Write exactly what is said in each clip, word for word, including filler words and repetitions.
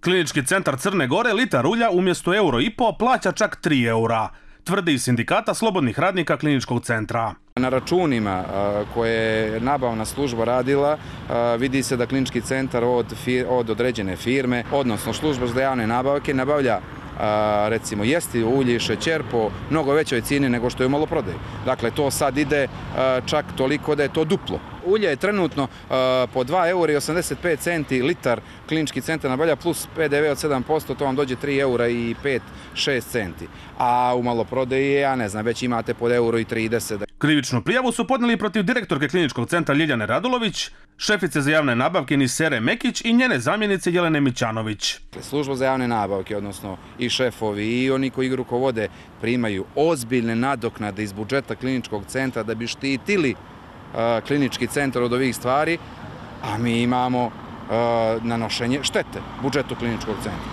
Klinički centar Crne Gore litar ulja umjesto euro i po plaća čak tri eura, tvrdi iz sindikata slobodnih radnika kliničkog centra. Na računima koje je nabavna služba radila vidi se da klinički centar od, od određene firme, odnosno služba za javne nabavke, nabavlja recimo jesti ulje i šećer po mnogo većoj cijeni nego što je u maloprodaji. Dakle, to sad ide čak toliko da je to duplo. Ulje je trenutno po dva eura i osamdeset pet centi litar, klinički centar nabavlja plus P D V od sedam posto, to vam dođe tri eura i pet šest centi. A u maloprodaji, ja ne znam, već imate pod euro i trideset. Krivičnu prijavu su podnijeli protiv direktorke kliničkog centra Ljiljane Radulović, šefice za javne nabavke Nisere Mekić i njene zamjenice Jelene Mićanović. Služba za javne nabavke, odnosno i šefovi i oni koji ih rukovode, primaju ozbiljne nadoknade iz budžeta kliničkog centra da bi štitili klinički centar od ovih stvari, a mi imamo nanošenje štete budžetu kliničkog centra.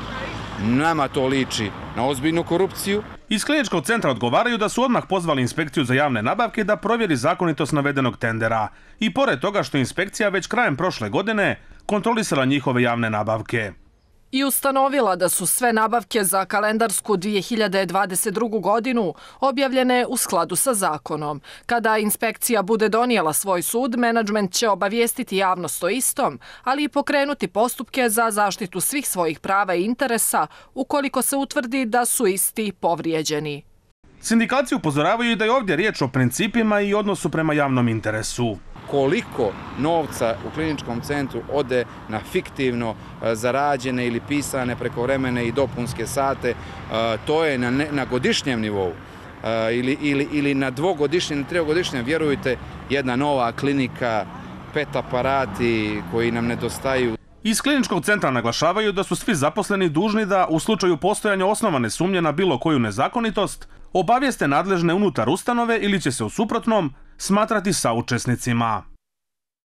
Nama to liči na ozbiljnu korupciju. Iz kliničkog centra odgovaraju da su odmah pozvali inspekciju za javne nabavke da provjeri zakonitost navedenog tendera i pored toga što inspekcija već krajem prošle godine kontrolisala njihove javne nabavke. I ustanovila da su sve nabavke za kalendarsku dvije hiljade dvadeset drugu. godinu objavljene u skladu sa zakonom. Kada inspekcija bude donijela svoj sud, menadžment će obavijestiti javnost o istom, ali i pokrenuti postupke za zaštitu svih svojih prava i interesa ukoliko se utvrdi da su isti povrijeđeni. Sindikati upozoravaju da je ovdje riječ o principima i odnosu prema javnom interesu. Koliko novca u kliničkom centru ode na fiktivno zarađene ili pisane prekovremene i dopunske sate, to je na, ne, na godišnjem nivou ili, ili, ili na dvogodišnjem, trigodišnjem, vjerujte, jedna nova klinika, pet aparati koji nam nedostaju. Iz kliničkog centra naglašavaju da su svi zaposleni dužni da u slučaju postojanja osnovane sumnje na bilo koju nezakonitost obavijeste nadležne unutar ustanove ili će se u suprotnom smatrati saučesnicima.